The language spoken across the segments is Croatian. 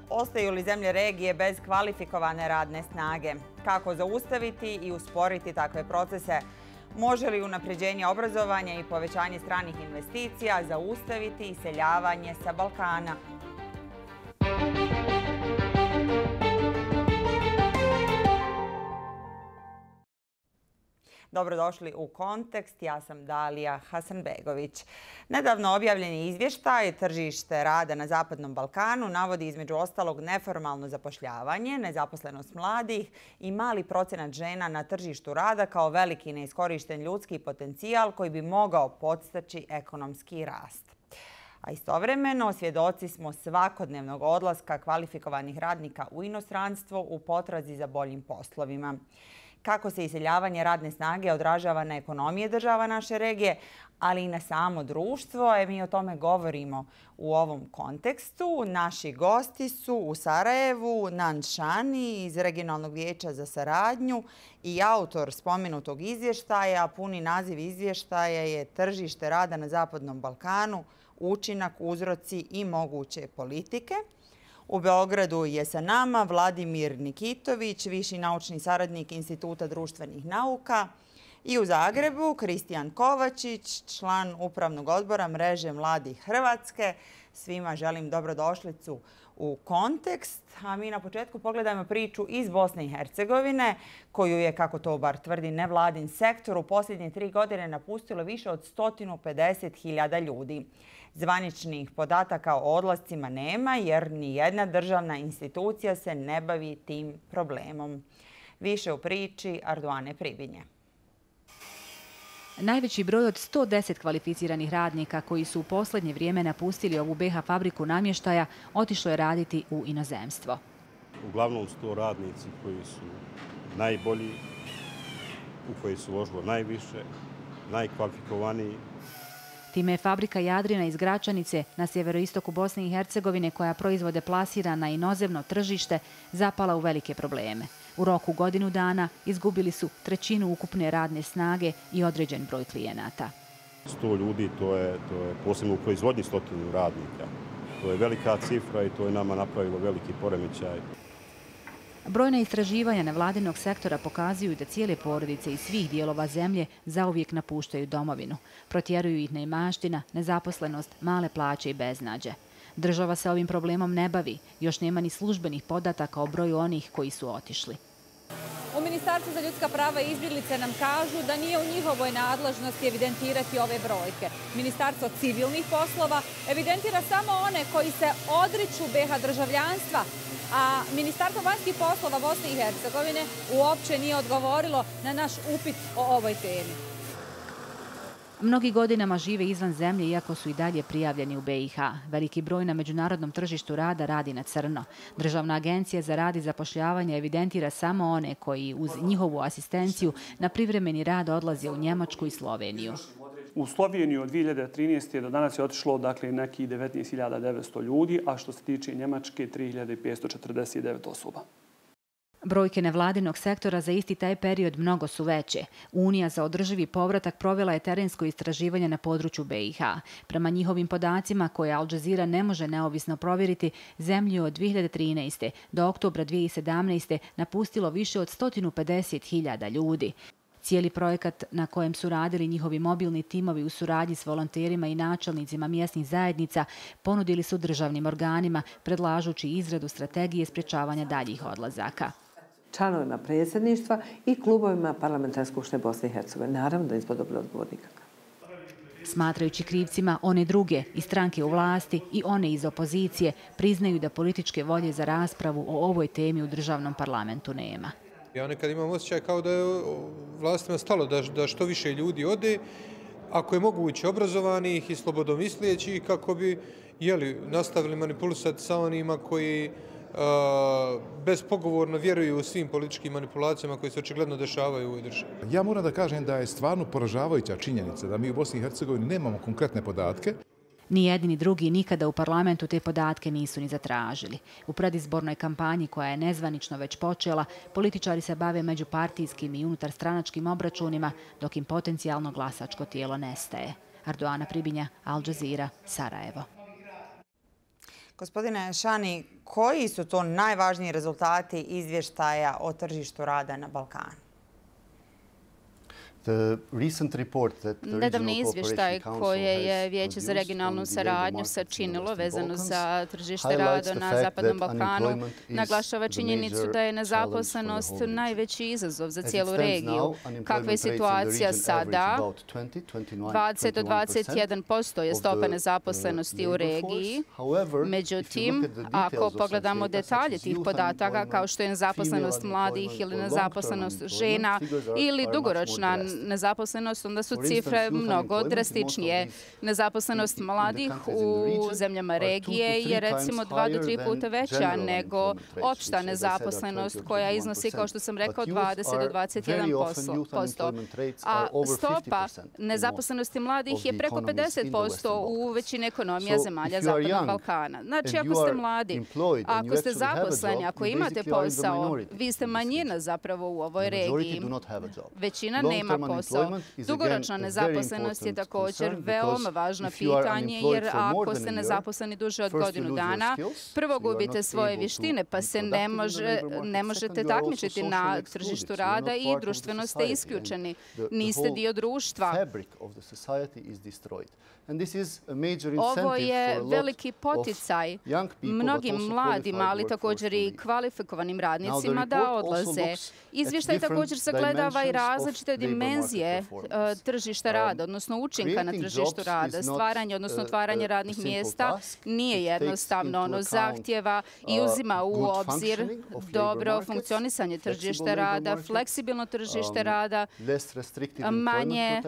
Ostaju li zemlje regije bez kvalifikovane radne snage? Kako zaustaviti i usporiti takve procese? Može li unapređenje obrazovanja i povećanje stranih investicija zaustaviti iseljavanje sa Balkana? Dobrodošli u Kontekst, ja sam Dalija Hasanbegović. Nedavno objavljeni izvještaj Tržište rada na Zapadnom Balkanu navodi između ostalog neformalno zapošljavanje, nezaposlenost mladih i mali procenat žena na tržištu rada kao veliki neiskorišten ljudski potencijal koji bi mogao podstaći ekonomski rast. A istovremeno svjedoci smo svakodnevnog odlaska kvalifikovanih radnika u inostranstvo u potrazi za boljim poslovima. Kako se iseljavanje radne snage odražava na ekonomije država naše regije, ali i na samo društvo. Mi o tome govorimo u ovom kontekstu. Naši gosti su u Sarajevu Nan Shani iz Regionalnog vijeća za saradnju i autor spomenutog izvještaja. Puni naziv izvještaja je Tržište rada na Zapadnom Balkanu, učinak, uzroci i moguće politike. U Beogradu je sa nama Vladimir Nikitović, viši naučni saradnik Instituta društvenih nauka. I u Zagrebu Kristijan Kovačić, član Upravnog odbora Mreže mladih Hrvatske. Svima želim dobrodošlicu u Kontekst. A mi na početku pogledajmo priču iz Bosne i Hercegovine, koju je, kako to bar tvrdi nevladin sektor, u posljednje 3 godine napustilo više od 150.000 ljudi. Zvaničnih podataka o odlascima nema jer nijedna državna institucija se ne bavi tim problemom. Više u priči Arduane Pribinje. Najveći broj od 110 kvalificiranih radnika koji su u posljednje vrijeme napustili ovu BiH fabriku namještaja otišlo je raditi u inozemstvo. Uglavnom su to radnici koji su najbolji, u koji su uložilo najviše, najkvalifikovaniji. Time je fabrika Jadrina iz Gračanice na sjeveroistoku Bosne i Hercegovine, koja proizvode plasira na inozemno tržište, zapala u velike probleme. U roku godinu dana izgubili su trećinu ukupne radne snage i određen broj klijenata. 100 ljudi, to je posebno u proizvodnji 100 radnika. To je velika cifra i to je nama napravilo veliki poremećaj. Brojna istraživanja nevladinog sektora pokazuju da cijele porodice iz svih dijelova zemlje zauvijek napuštaju domovinu. Protjeruju ih neimaština, nezaposlenost, male plaće i beznađe. Država se ovim problemom ne bavi, još nema ni službenih podataka o broju onih koji su otišli. U Ministarstvu za ljudska prava i izbjeglice nam kažu da nije u njihovoj nadležnosti evidentirati ove brojke. Ministarstvo civilnih poslova evidentira samo one koji se odriču BiH državljanstva, a Ministarstvo vanjskih poslova Bosne i Hercegovine uopće nije odgovorilo na naš upit o ovoj temi. Mnogi godinama žive izvan zemlje, iako su i dalje prijavljeni u BiH. Veliki broj na međunarodnom tržištu rada radi na crno. Državna agencija za rad i zapošljavanje evidentira samo one koji uz njihovu asistenciju na privremeni rad odlaze u Njemačku i Sloveniju. U Sloveniju od 2013. do danas je otišlo nekih 19.900 ljudi, a što se tiče Njemačke 3.549 osoba. Brojke nevladinog sektora za isti taj period mnogo su veće. Unija za održivi povratak provela je terensko istraživanje na području BiH. Prema njihovim podacima, koje Al Jazeera ne može neovisno provjeriti, zemlju od 2013. do oktobra 2017. napustilo više od 150.000 ljudi. Cijeli projekat na kojem su radili njihovi mobilni timovi u suradnji s volonterima i načelnicima mjesnih zajednica ponudili su državnim organima, predlažući izradu strategije sprječavanja daljih odlazaka. Članovima predsjedništva i klubovima Parlamentarne skupštine Bosne i Hercegovine. Naravno da nismo dobili odgovor nikakav. Smatrajući krivcima one druge i stranke u vlasti i one iz opozicije, priznaju da političke volje za raspravu o ovoj temi u državnom parlamentu nema. Ja nekad imam osjećaj kao da je vlastima stalo da što više ljudi ode, ako je moguće obrazovanih i slobodomislijećih, kako bi nastavili manipulisati sa onima koji bespogovorno vjeruju u svim političkim manipulacijama koji se očigledno dešavaju u ovoj državi. Ja moram da kažem da je stvarno poražavajuća činjenica da mi u Bosni i Hercegovini nemamo konkretne podatke. Ni jedni ni drugi nikada u parlamentu te podatke nisu ni zatražili. U predizbornoj kampanji, koja je nezvanično već počela, političari se bave međupartijskim i unutarstranačkim obračunima, dok im potencijalno glasačko tijelo nestaje. Arduana Pribinja, Al Jazeera, Sarajevo. Gospodine Šani, koji su to najvažniji rezultati izvještaja o tržištu rada na Balkanu? Nedavni izvještaj koje je Vijeće za regionalnu saradnju sačinilo vezano za tržište rada na Zapadnom Balkanu naglašava činjenicu da je nezaposlenost najveći izazov za cijelu regiju. Kakva je situacija sada? 20 do 21% je stopa nezaposlenosti u regiji. Međutim, ako pogledamo detalje tih podataka, kao što je nezaposlenost mladih ili nezaposlenost žena ili dugoročna nezaposlenost, onda su cifre mnogo drastičnije. Nezaposlenost mladih u zemljama regije je recimo 2 do 3 puta veća nego opšta nezaposlenost koja iznosi, kao što sam rekao, 20 do 21%. A stopa nezaposlenosti mladih je preko 50% u većini ekonomija zemalja Zapadnog Balkana. Znači, ako ste mladi, ako ste zaposleni, ako imate posao, vi ste manjina zapravo u ovoj regiji. Većina nema posao. Dugoročna nezaposlenost je također veoma važno pitanje, jer ako ste nezaposleni duže od godinu dana, prvo gubite svoje vještine, pa se ne možete takmičiti na tržištu rada i društveno ste isključeni. Niste dio društva. Ovo je veliki poticaj mnogim mladima, ali također i kvalifikovanim radnicima da odlaze. Izvještaj također sagledava i različite dimenzije tržišta rada, odnosno učinka na tržištu rada. Stvaranje, odnosno otvaranje radnih mjesta nije jednostavno. Ono zahtjeva i uzima u obzir dobro funkcionisanje tržišta rada, fleksibilno tržište rada, manje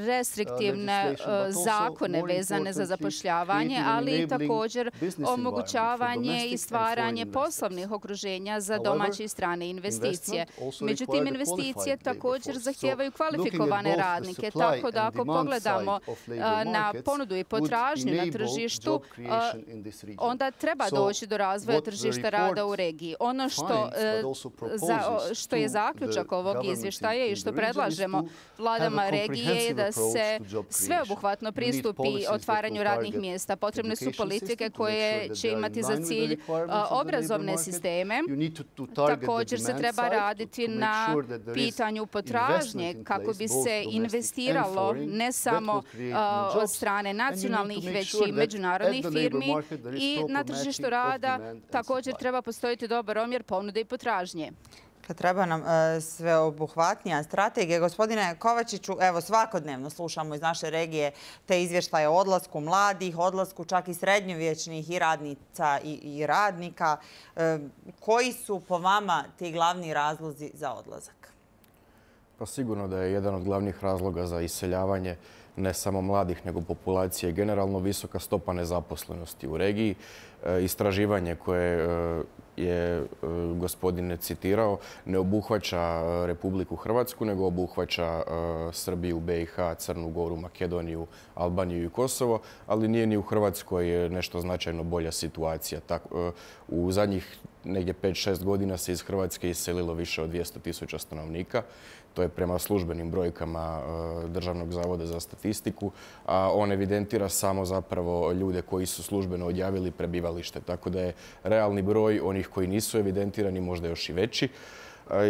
restriktivne zakone vezane za zapošljavanje, ali i također omogućavanje i stvaranje poslovnih okruženja za domaće i strane investicije. Međutim, investicije također zahtijevaju kvalifikovane radnike, tako da ako pogledamo na ponudu i potražnju na tržištu, onda treba doći do razvoja tržišta rada u regiji. Ono što je zaključak ovog izvještaja i što predlažemo vladama regije je da se sveobuhvatno pristupi otvaranju radnih mjesta. Potrebne su politike koje će imati za cilj obrazovne sisteme. Također se treba raditi na pitanju potražnje kako bi se investiralo ne samo od strane nacionalnih, već i međunarodnih firmi i na tržištu rada također treba postojiti dobar omjer ponude i potražnje. Treba nam sveobuhvatnija strategija. Gospodine Kovačiću, evo svakodnevno slušamo iz naše regije te izvještaje o odlasku mladih, odlasku čak i srednjovječnih i radnica i radnika. Koji su po vama ti glavni razlozi za odlazak? Pa sigurno da je jedan od glavnih razloga za iseljavanje ne samo mladih, nego populacije generalno visoka stopa nezaposlenosti u regiji. Istraživanje koje je gospodin citirao ne obuhvaća Republiku Hrvatsku, nego obuhvaća Srbiju, BiH, Crnu Goru, Makedoniju, Albaniju i Kosovo, ali nije ni u Hrvatskoj nešto značajno bolja situacija. U zadnjih negdje 5-6 godina se iz Hrvatske iselilo više od 200.000 stanovnika. To je prema službenim brojkama Državnog zavoda za statistiku, a on evidentira samo zapravo ljude koji su službeno odjavili prebivalište. Tako da je realni broj onih koji nisu evidentirani možda još i veći.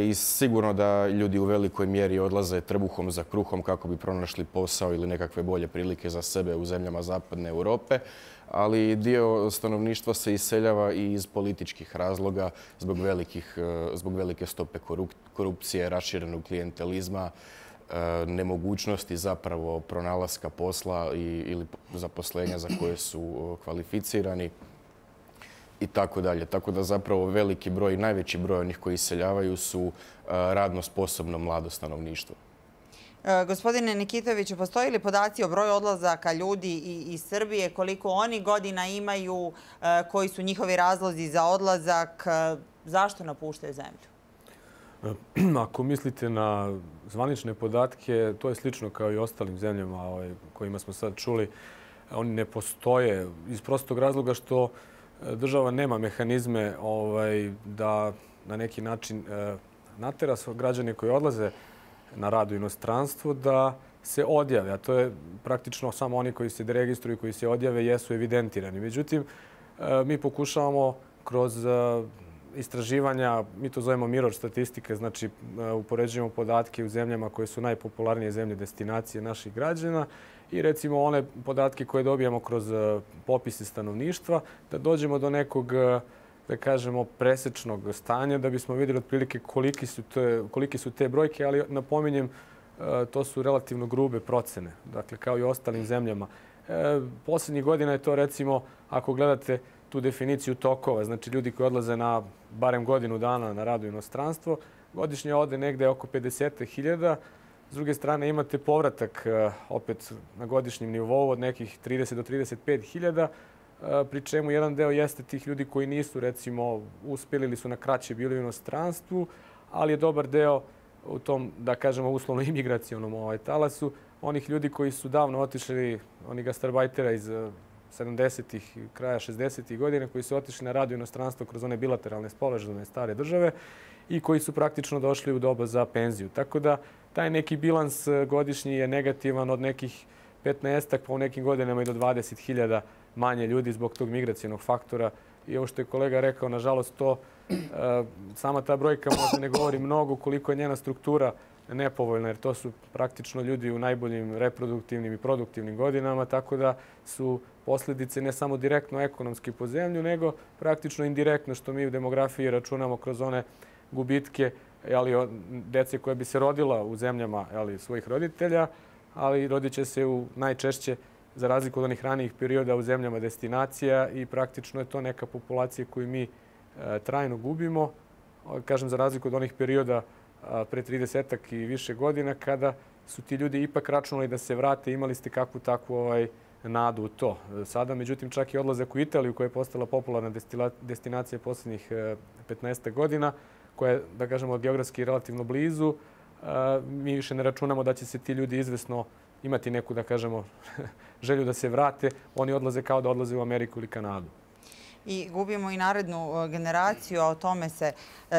I sigurno da ljudi u velikoj mjeri odlaze trbuhom za kruhom kako bi pronašli posao ili nekakve bolje prilike za sebe u zemljama Zapadne Europe. Ali dio stanovništva se iseljava i iz političkih razloga zbog velike stope korupcije, raširenog klijentelizma, nemogućnosti zapravo pronalaska posla ili zaposlenja za koje su kvalificirani i tako dalje. Tako da zapravo veliki broj, najveći broj onih koji iseljavaju su radno sposobno mlado stanovništvo. Gospodine Nikitoviću, postoji li podaci o broju odlazaka ljudi iz Srbije, koliko oni godina imaju, koji su njihovi razlozi za odlazak, zašto napuštaju zemlju? Ako mislite na zvanične podatke, to je slično kao i ostalim zemljama kojima smo sad čuli. Oni ne postoje iz prostog razloga što država nema mehanizme da na neki način natera građane koji odlaze na rad u inostranstvu da se odjave. A to je praktično samo oni koji se deregistruju, koji se odjave, jesu evidentirani. Međutim, mi pokušavamo kroz istraživanja, mi to zovemo mirror statistike, znači upoređujemo podatke u zemljama koje su najpopularnije zemlje destinacije naših građana i recimo one podatke koje dobijamo kroz popise stanovništva, da dođemo do nekog, da kažemo, presečnog stanja, da bismo vidjeli otprilike koliki su te brojke, ali napominjem, to su relativno grube procene, dakle kao i u ostalim zemljama. Posljednjih godina je to recimo, ako gledate tu definiciju tokova, znači ljudi koji odlaze na barem godinu dana na rad u inostranstvo, godišnje ode negde oko 50.000. S druge strane imate povratak opet na godišnjem nivou od nekih 30 do 35.000, pri čemu jedan deo jeste tih ljudi koji nisu recimo uspjeli ili su na kraće bili u inostranstvu, ali je dobar deo u tom, da kažemo, uslovno imigracionom talasu, onih ljudi koji su davno otišli, oni gastarbajtera iz 70-ih, kraja 60-ih godina, koji su otišli na rad u inostranstvo kroz one bilateralne sporazume stare države i koji su praktično došli u doba za penziju. Tako da taj neki bilans godišnji je negativan od nekih 15-ak, pa u nekim godinama i do 20.000 manje ljudi zbog tog migracijenog faktora. I ovo što je kolega rekao, nažalost, to sama ta brojka možda ne govori mnogo koliko je njena struktura nepovoljna, jer to su praktično ljudi u najboljim reproduktivnim i produktivnim godinama, tako da su posljedice ne samo direktno ekonomski po zemlju, nego praktično indirektno, što mi u demografiji računamo kroz one gubitke dece koja bi se rodila u zemljama svojih roditelja, ali rodit će se najčešće, za razliku od onih ranijih perioda, u zemljama destinacija i praktično je to neka populacija koju mi trajno gubimo. Kažem, za razliku od onih perioda pre 30-ak i više godina, kada su ti ljudi ipak računali da se vrate, imali ste kakvu takvu nadu u to. Sada, međutim, čak i odlazak u Italiju, koja je postala popularna destinacija posljednjih 15 godina, koja je, da kažemo, geografski relativno blizu, mi više ne računamo da će se ti ljudi izvesno imati neku, da kažemo, želju da se vrate. Oni odlaze kao da odlaze u Ameriku ili Kanadu. I gubimo i narednu generaciju, a o tome se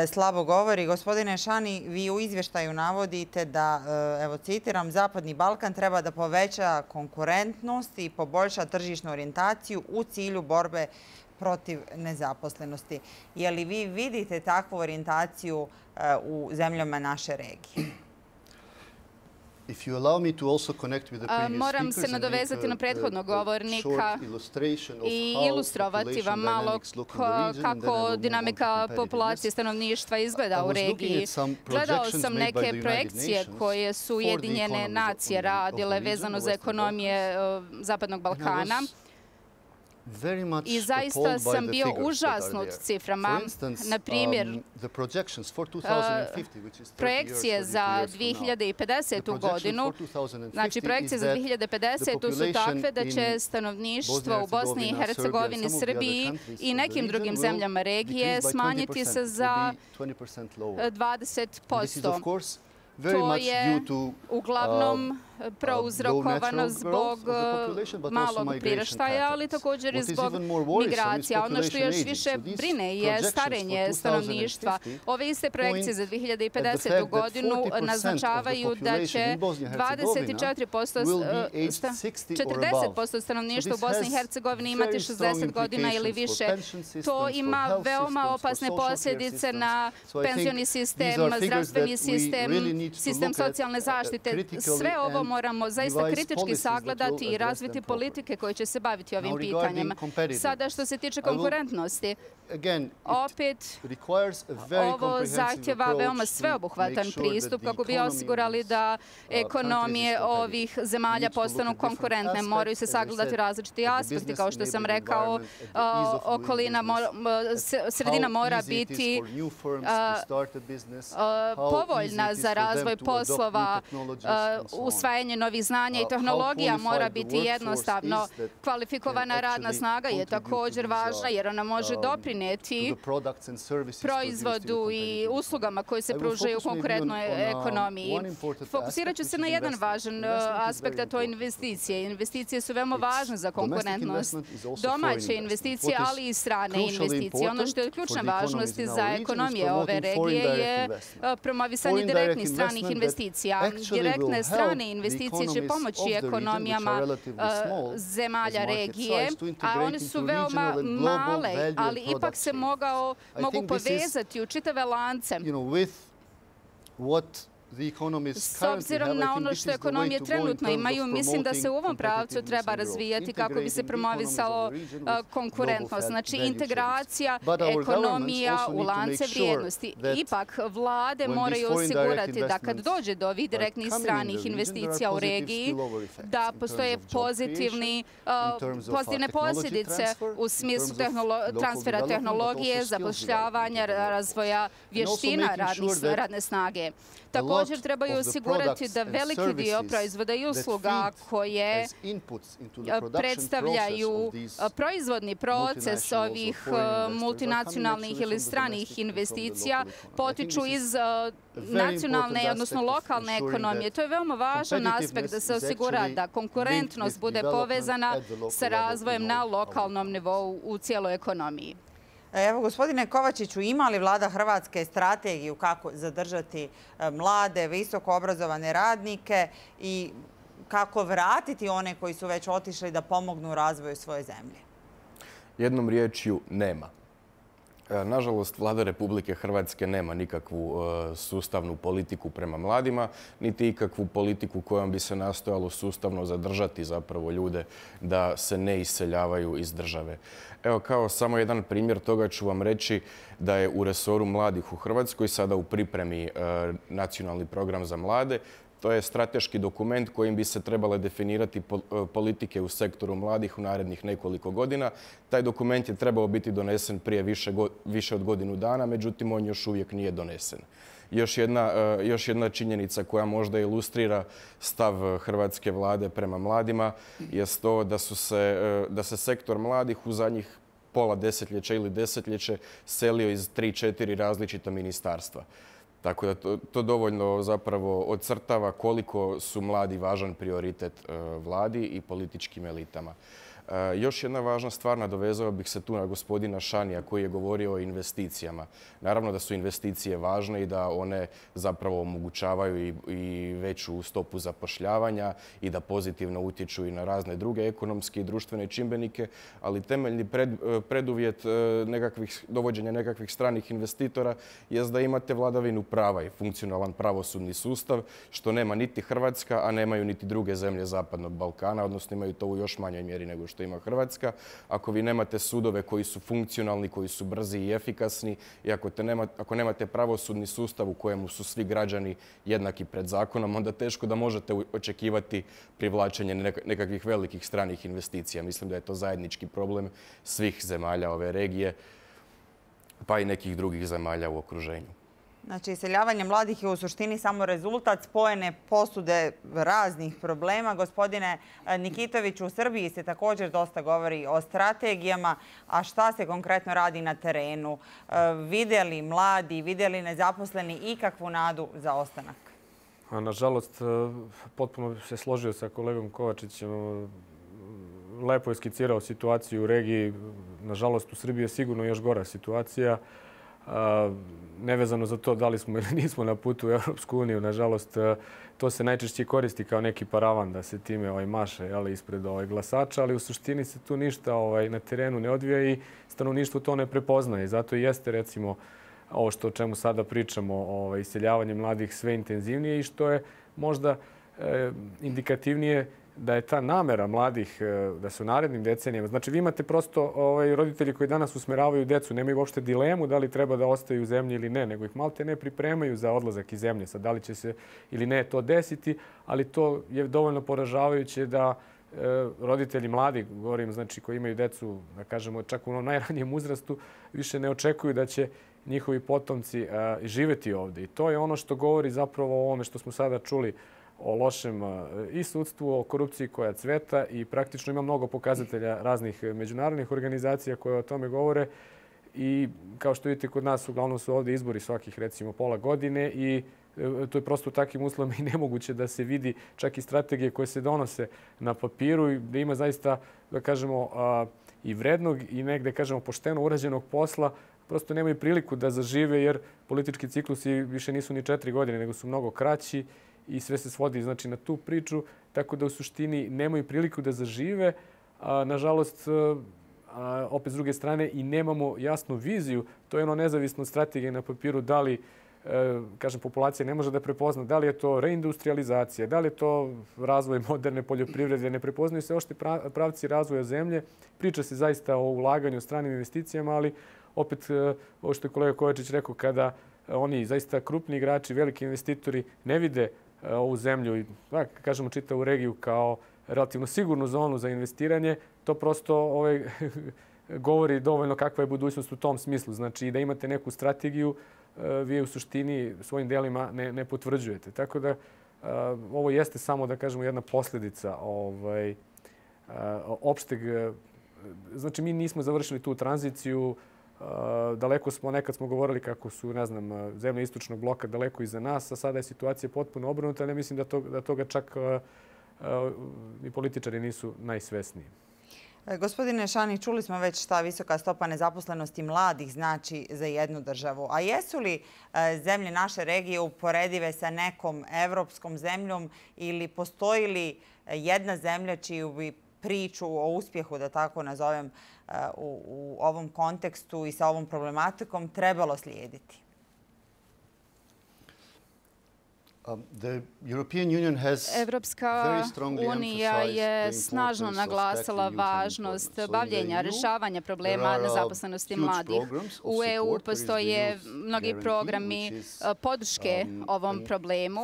slabo govori. Gospodine Šani, vi u izvještaju navodite da, evo citiram, Zapadni Balkan treba da poveća konkurentnost i poboljša tržišnu orijentaciju u cilju borbe protiv nezaposlenosti. Je li vi vidite takvu orijentaciju u zemljama naše regije? Moram se nadovezati na prethodnog govornika i ilustrovati vam malo kako dinamika populacije stanovništva izgleda u regiji. Gledao sam neke projekcije koje su Ujedinjene nacije radile vezano za ekonomije Zapadnog Balkana. I zaista sam bio užasnut ciframa. Na primjer, projekcije za 2050. godinu, znači projekcije za 2050. su takve da će stanovništvo u Bosni i Hercegovini, Srbiji i nekim drugim zemljama regije smanjiti se za 20%. To je uglavnom prouzrokovano zbog malog priraštaja, ali također i zbog migracija. Ono što još više brine je starenje stanovništva. Ove iste projekcije za 2050. godinu naznačavaju da će 40% stanovništva u Bosni i Hercegovini imati 60 godina ili više. To ima veoma opasne posljedice na penzioni sistem, zdravstveni sistem, sistem socijalne zaštite. Sve ovo moramo zaista kritički sagledati i razviti politike koje će se baviti ovim pitanjem. Sada što se tiče konkurentnosti, opet ovo zahtjeva veoma sveobuhvatan pristup kako bi osigurali da ekonomije ovih zemalja postanu konkurentne. Moraju se sagledati različiti aspekti, kao što sam rekao, sredina mora biti povoljna za razvoj poslova, usvajanje novih znanja i tehnologija mora biti jednostavno. Kvalifikovana radna snaga je također važna jer ona može doprinijeti proizvodu i uslugama koje se pružaju u konkurentnoj ekonomiji. Fokusirat ću se na jedan važan aspekt, a to je investicije. Investicije su veoma važne za konkurentnost. Domaće investicije, ali i strane investicije. Ono što je od ključne važnosti za ekonomije ove regije je promovisanje direktnih stranih investicija. Direktne strane investicije investicije će pomoći ekonomijama zemalja regije, a one su veoma male, ali ipak se mogu povezati u čitave lance. S obzirom na ono što ekonomije trenutno imaju, mislim da se u ovom pravcu treba razvijati kako bi se promovisalo konkurentnost. Znači, integracija ekonomija u lance vrijednosti. Ipak, vlade moraju osigurati da kad dođe do ovih direktnih stranih investicija u regiji, da postoje pozitivne posljedice u smislu transfera tehnologije, zapošljavanja, razvoja vještina radne snage. Također trebaju osigurati da veliki dio proizvoda i usluga koje predstavljaju proizvodni proces ovih multinacionalnih ili stranih investicija potiču iz nacionalne, odnosno lokalne ekonomije. To je veoma važan aspekt da se osigura da konkurentnost bude povezana sa razvojem na lokalnom nivou u cijeloj ekonomiji. Evo, gospodine Kovačiću, ima li vlada Hrvatske strategiju kako zadržati mlade, visoko obrazovane radnike i kako vratiti one koji su već otišli da pomognu u razvoju svoje zemlje? Jednom riječju nema. Nažalost, vlada Republike Hrvatske nema nikakvu sustavnu politiku prema mladima, niti ikakvu politiku kojom bi se nastojalo sustavno zadržati zapravo ljude da se ne iseljavaju iz države. Evo, kao samo jedan primjer toga ću vam reći da je u resoru mladih u Hrvatskoj sada u pripremi nacionalni program za mlade. To je strateški dokument kojim bi se trebale definirati politike u sektoru mladih u narednih nekoliko godina. Taj dokument je trebao biti donesen prije više od godinu dana, međutim on još uvijek nije donesen. Još jedna činjenica koja možda ilustrira stav hrvatske vlade prema mladima je to da se sektor mladih u zadnjih pola desetljeća ili desetljeće selio iz 3-4 različita ministarstva. Tako da to dovoljno zapravo ocrtava koliko su mladi važan prioritet vladi i političkim elitama. Još jedna važna stvar, nadovezao bih se tu na gospodina Šanija koji je govorio o investicijama. Naravno da su investicije važne i da one zapravo omogućavaju i veću stopu zapošljavanja i da pozitivno utječu i na razne druge ekonomske i društvene čimbenike, ali temeljni preduvjet dovođenja nekakvih stranih investitora je da imate vladavinu prava i funkcionalan pravosudni sustav, što nema niti Hrvatska, a nemaju niti druge zemlje Zapadnog Balkana, odnosno imaju to u još manjoj mjeri nego što ima Hrvatska. Ako vi nemate sudove koji su funkcionalni, koji su brzi i efikasni i ako nemate pravosudni sustav u kojemu su svi građani jednaki pred zakonom, onda teško da možete očekivati privlačenje nekakvih velikih stranih investicija. Mislim da je to zajednički problem svih zemalja ove regije, pa i nekih drugih zemalja u okruženju. Znači, iseljavanje mladih je u suštini samo rezultat spojene posude raznih problema. Gospodine Nikitoviću, u Srbiji se također dosta govori o strategijama, a šta se konkretno radi na terenu? Vide li mladi, vide li nezaposleni ikakvu nadu za ostanak? Nažalost, potpuno se složio sa kolegom Kovačićem. Lepo je skicirao situaciju u regiji. Nažalost, u Srbiji je sigurno još gora situacija. Nevezano za to da li smo ili nismo na putu u Europsku uniju, nažalost, to se najčešće koristi kao neki paravan da se time maše ispred glasača, ali u suštini se tu ništa na terenu ne odvija i stanovništvo to ne prepoznaje. Zato i jeste, recimo, ovo o čemu sada pričamo, iseljavanje mladih sve intenzivnije i što je možda indikativnije da je ta namera mladih da se u narednim decenijama... Znači, vi imate prosto roditelji koji danas usmeravaju djecu, nemaju uopšte dilemu da li treba da ostaju u zemlji ili ne, nego ih malte ne pripremaju za odlazak iz zemlje. Sad, da li će se ili ne to desiti, ali to je dovoljno poražavajuće da roditelji mladi, govorim, znači, koji imaju djecu, da kažemo, čak u onom najranijem uzrastu, više ne očekuju da će njihovi potomci živjeti ovdje. I to je ono što govori zapravo o ovome što smo sada čuli o lošem i sudstvu, o korupciji koja cveta i praktično ima mnogo pokazatelja raznih međunarodnih organizacija koje o tome govore. I kao što vidite, kod nas uglavnom su ovdje izbori svakih, recimo, pola godine i to je prosto u takvim uslovima i nemoguće da se vidi čak i strategije koje se donose na papiru i da ima zaista, da kažemo, i vrednog i negde, kažemo, pošteno urađenog posla. Prosto nemaju priliku da zažive jer politički ciklusi više nisu ni 4 godine, nego su mnogo kraći i sve se svodi znači, na tu priču, tako da u suštini nemaju priliku da zažive. Nažalost, opet s druge strane i nemamo jasnu viziju. To je ono nezavisno od strategije na papiru da li kažem, populacija ne može da prepozna da li je to reindustrializacija, da li je to razvoj moderne poljoprivrede, ne prepoznaju se ošte pravci razvoja zemlje. Priča se zaista o ulaganju, stranim investicijama, ali opet, ovo što je kolega Kovačić rekao, kada oni zaista krupni igrači, veliki investitori ne vide ovu zemlju i, kažemo, čitavu regiju kao relativno sigurnu zonu za investiranje, to prosto govori dovoljno kakva je budućnost u tom smislu. Znači, da imate neku strategiju, vi u suštini svojim delima ne potvrđujete. Tako da ovo jeste samo, da kažemo, jedna posljedica opšteg. Znači, mi nismo završili tu tranziciju. Daleko smo, nekad smo govorili kako su, ne znam, zemlje istočnog bloka daleko iza nas, a sada je situacija potpuno obrnuta, ali mislim da toga čak i političari nisu najsvesniji. Gospodine Šani, čuli smo već šta visoka stopa nezaposlenosti mladih znači za jednu državu. A jesu li zemlje naše regije uporedive sa nekom evropskom zemljom ili postoji li jedna zemlja čiju bi priču o uspjehu, da tako nazovem, u ovom kontekstu i sa ovom problematikom trebalo slijediti? Evropska unija je snažno naglasila važnost bavljenja, rješavanja problema nezaposlenosti mladih. U EU postoje mnogi programi podrške ovom problemu.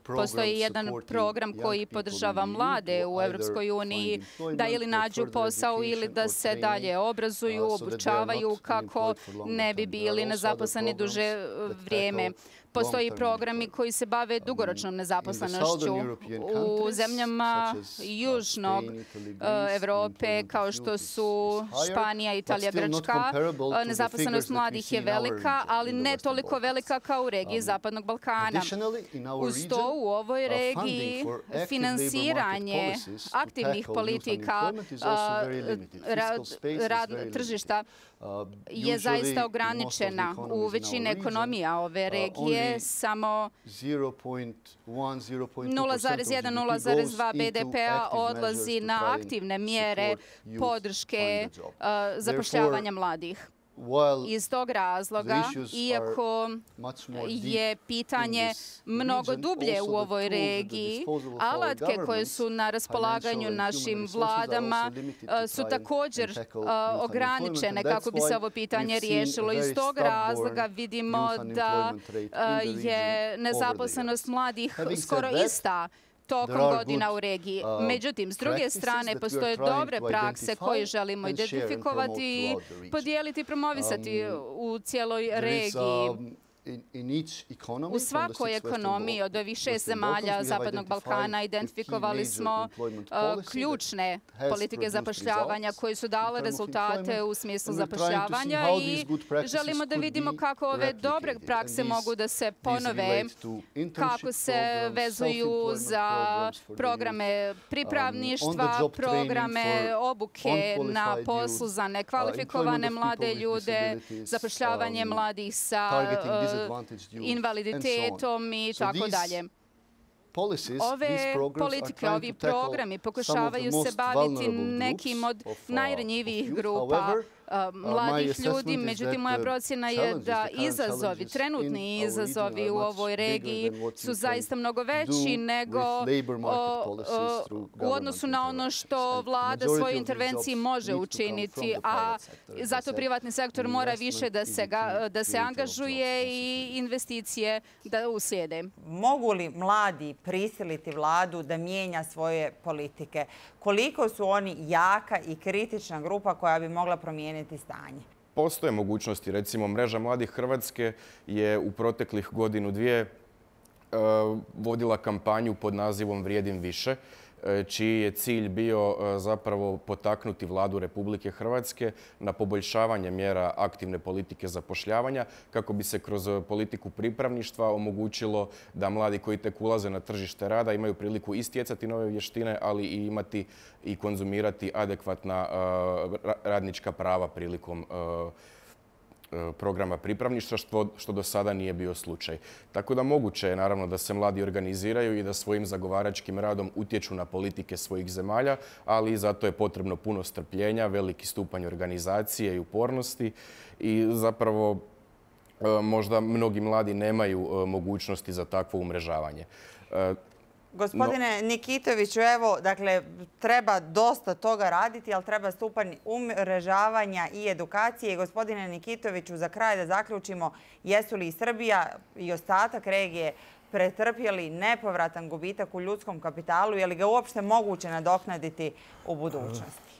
Postoji jedan program koji podržava mlade u Evropskoj uniji da ili nađu posao ili da se dalje obrazuju, obučavaju kako ne bi bili nezaposleni duže vrijeme. Postoji programi koji se bave dugoročnom nezaposlenošću. U zemljama južnog Evrope, kao što su Španija, Italija, Grčka, nezaposlenost mladih je velika, ali ne toliko velika kao u regiji Zapadnog Balkana. Uz to u ovoj regiji finansiranje aktivnih politika tržišta je zaista ograničena. U većini ekonomija ove regije samo 0,1-0,2 BDP-a odlazi na aktivne mjere podrške zapošljavanja mladih. Iz tog razloga, iako je pitanje mnogo dublje u ovoj regiji, alatke koje su na raspolaganju našim vladama su također ograničene kako bi se ovo pitanje riješilo. Iz tog razloga vidimo da je nezaposlenost mladih skoro ista tokom godina u regiji. Međutim, s druge strane, postoje dobre prakse koje želimo identifikovati i podijeliti i promovisati u cijeloj regiji. U svakoj ekonomiji od ovih 6 zemalja Zapadnog Balkana identifikovali smo ključne politike zapošljavanja koje su dale rezultate u smislu zapošljavanja i želimo da vidimo kako ove dobre prakse mogu da se ponove, kako se vezuju za programe pripravništva, programe obuke na poslu za nekvalifikovane mlade ljude, zapošljavanje mladih sa invaliditetom i tako dalje. Ove politike, ovi programi pokušavaju se baviti nekim od najranjivijih grupa mladih ljudi. Međutim, moja procjena je da izazovi, trenutni izazovi u ovoj regiji su zaista mnogo veći nego u odnosu na ono što vlada svojoj intervenciji može učiniti, a zato privatni sektor mora više da se angažuje i investicije da uslijede. Mogu li mladi prisiliti vladu da mijenja svoje politike? Koliko su oni jaka i kritična grupa koja bi mogla promijeniti stanje? Postoje mogućnosti. Recimo, Mreža mladih Hrvatske je u proteklih godinu, dvije vodila kampanju pod nazivom Vrijedim više, čiji je cilj bio zapravo potaknuti vladu Republike Hrvatske na poboljšavanje mjera aktivne politike zapošljavanja kako bi se kroz politiku pripravništva omogućilo da mladi koji tek ulaze na tržište rada imaju priliku i stjecati nove vještine, ali i imati i konzumirati adekvatna radnička prava prilikom programa pripravništva, što do sada nije bio slučaj. Tako da moguće je naravno da se mladi organiziraju i da svojim zagovaračkim radom utječu na politike svojih zemalja, ali zato je potrebno puno strpljenja, veliki stupanj organizacije i upornosti i zapravo možda mnogi mladi nemaju mogućnosti za takvo umrežavanje. Gospodine Nikitoviću, evo, dakle, treba dosta toga raditi, ali treba stupanj umrežavanja i edukacije. Gospodine Nikitoviću, za kraj da zaključimo, jesu li i Srbija i ostatak regije pretrpjeli nepovratan gubitak u ljudskom kapitalu? Je li ga uopšte moguće nadoknaditi u budućnosti?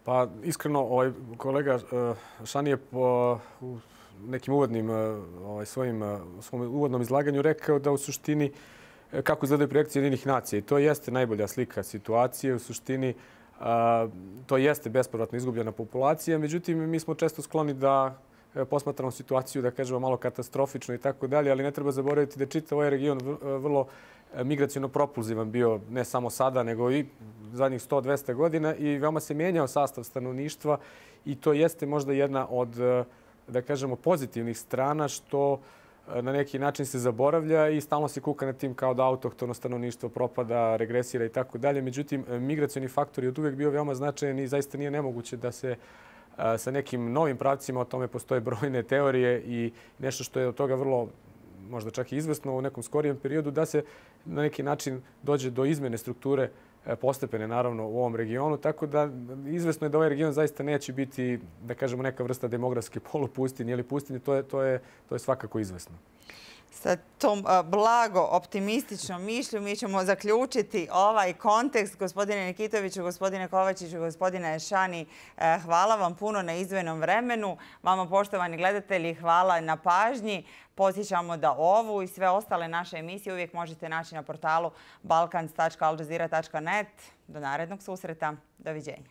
Pa, iskreno, kolega Šan je u nekim svom uvodnom izlaganju rekao da u suštini kako izgledaju projekcije Jedinih nacija. I to jeste najbolja slika situacije. U suštini to jeste bespovratno izgubljena populacija. Međutim, mi smo često skloni da posmatramo situaciju, da kažemo, malo katastrofično i tako dalje, ali ne treba zaboraviti da je čitav ovaj region vrlo migracijono propulzivan bio, ne samo sada, nego i zadnjih 100-200 godina i veoma se mijenjao sastav stanovništva i to jeste možda jedna od, da kažemo, pozitivnih strana što na neki način se zaboravlja i stalno se kuka nad tim kao da autohtono stanovništvo propada, regresira i tako dalje. Međutim, migracioni faktor je od uvijek bio veoma značajan i zaista nije nemoguće da se sa nekim novim pravcima, o tome postoje brojne teorije i nešto što je od toga vrlo možda čak i izvesno u nekom skorijem periodu, da se na neki način dođe do izmjene strukture postepene, naravno, u ovom regionu. Tako da izvesno je da ovaj region zaista neće biti, da kažemo, neka vrsta demografske polupustinje ili pustinje. To je svakako izvesno. Sa tom blago optimističnom mišlju mi ćemo zaključiti ovaj kontekst. Gospodine Nikitoviću, gospodine Kovačiću, gospodine Šani, hvala vam puno na izdvojenom vremenu. Vama, poštovani gledatelji, hvala na pažnji. Podsjećamo da ovu i sve ostale naše emisije uvijek možete naći na portalu balkans.aljazeera.net. Do narednog susreta. Doviđenja.